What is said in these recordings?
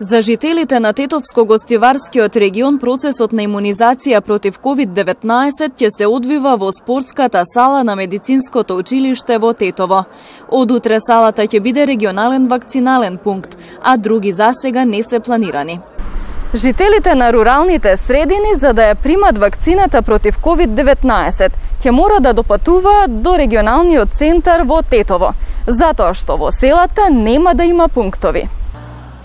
За жителите на Тетовско-гостиварскиот регион процесот на имунизација против COVID-19 ќе се одвива во спортската сала на медицинското училиште во Тетово. Од утре салата ќе биде регионален вакцинален пункт, а други засега не се планирани. Жителите на руралните средини за да ја примат вакцината против COVID-19 ќе мора да допатуваат до регионалниот центар во Тетово, затоа што во селата нема да има пунктови.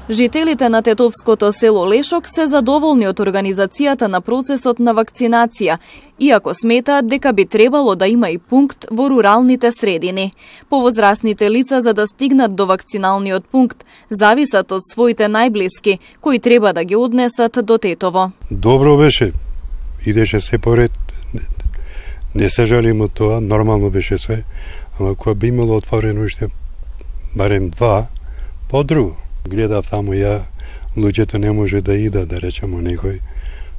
Жителите на тетовското село Лешок се задоволни од организацијата на процесот на вакцинација, иако сметаат дека би требало да има и пункт во руралните средини. Повозрасните лица за да стигнат до вакциналниот пункт зависат од своите најблиски, кои треба да ги однесат до Тетово. Добро беше, идеше се поред, не се жалим од тоа, нормално беше се, ама кога би имало отворено уште барем два, по-друго. Гледав таму ја, луѓето не може да ида, да речемо некој,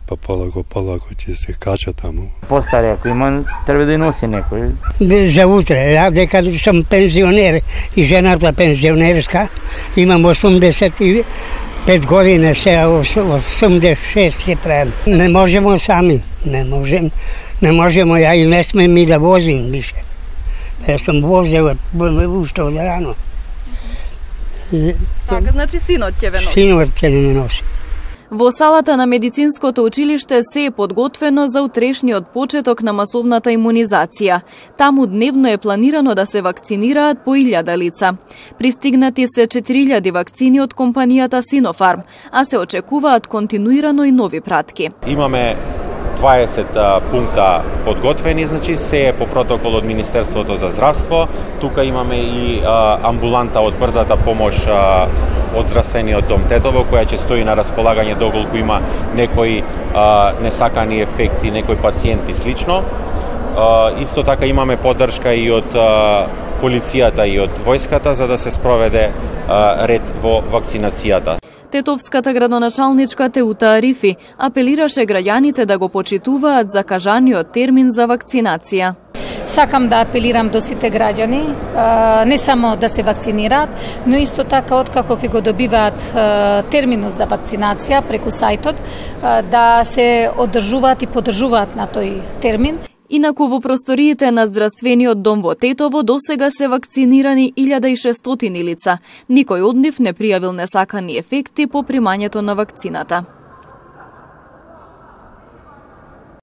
па полако ќе се кача таму. Постари, ако има, треба да носи некој. За утре, ја дека сум пензионер и жената пензионерска, имам 85 години, сега 86 ќе правим. Не можемо сами, не можемо, ја и не сме ми да возим више. Ја сум возел уште од рано. Така, значи синот ќе ве носи? Синот ќе не носи. Во салата на медицинското училиште се е подготвено за утрешниот почеток на масовната имунизација. Таму дневно е планирано да се вакцинираат по 1000 лица. Пристигнати се 4000 вакцини од компанијата Sinopharm, а се очекуваат континуирано и нови пратки. Имаме 20 пункта подготвени, значи се е по протокол од Министерството за здравство. Тука имаме и амбуланта од брзата помош од здравствениот дом Тетово, која ќе стои на располагање доколку има некои несакани ефекти, некои пациенти слично. Исто така имаме поддршка и од полицијата и од војската за да се спроведе ред во вакцинацијата. Тетовската градоначалничка Теута Арифи апелираше граѓаните да го почитуваат закажаниот термин за вакцинација. Сакам да апелирам до сите граѓани, не само да се вакцинираат, но исто така откако ќе го добиваат терминот за вакцинација преку сајтот, да се одржуваат и поддржуваат на тој термин. Инаку во просториите на здравствениот дом во Тетово досега се вакцинирани 1600 лица. Никој од нив не пријавил несакани ефекти по примањето на вакцината.